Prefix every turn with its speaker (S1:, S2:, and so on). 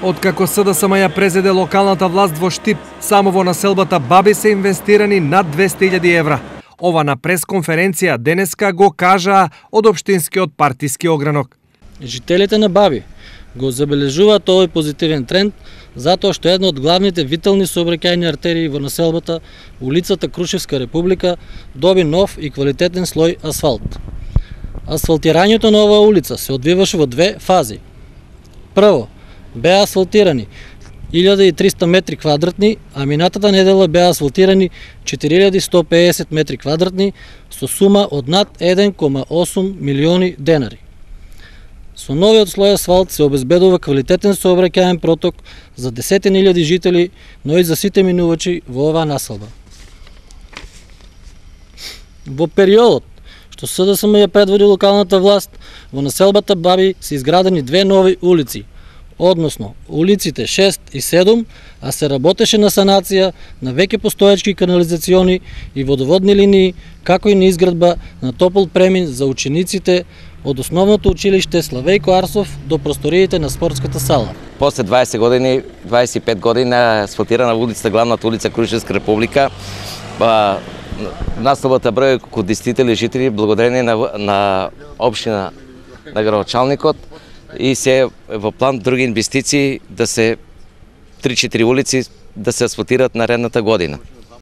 S1: Откако СДСМ ја презеде локалната власт во Штип, само во населбата Баби се инвестирани над 200.000 евра. Ова на пресконференција денеска го кажаа од општинскиот партиски огранок.
S2: Жителите на Баби го забележуваат овој позитивен тренд затоа што една од главните витални сообраќајни артерии во населбата, улицата Крушевска република, доби нов и квалитетен слој асфалт. Асфалтирањето на оваа улица се одвиваше во две фази. Прво, беа асфалтирани 1300 метри квадратни, а минатата недела беа асфалтирани 4150 метри квадратни со сума од над 1,8 милиони денари. Со новиот слој асфалт се обезбедува квалитетен сообраќајен проток за десетини илјади жители, но и за сите минувачи во оваа населба. Во периодот што СДСМ ја предводи локалната власт, во населбата Баби се изградени две нови улици, односно улиците 6 и 7, а се работеше на санација на веќе постоечки канализациони и водоводни линии, како и на изградба на топол премин за учениците од основното училиште Славејко Арсов до просториите на спортската сала.
S3: После 20 години, 25 години асфалтирана улица, главната улица Крушевска република, населбата број околу 10.000 жители благодарение на општина на градоначалникот и се во план други инвестиции да се 3-4 улици да се асфалтираат наредната година.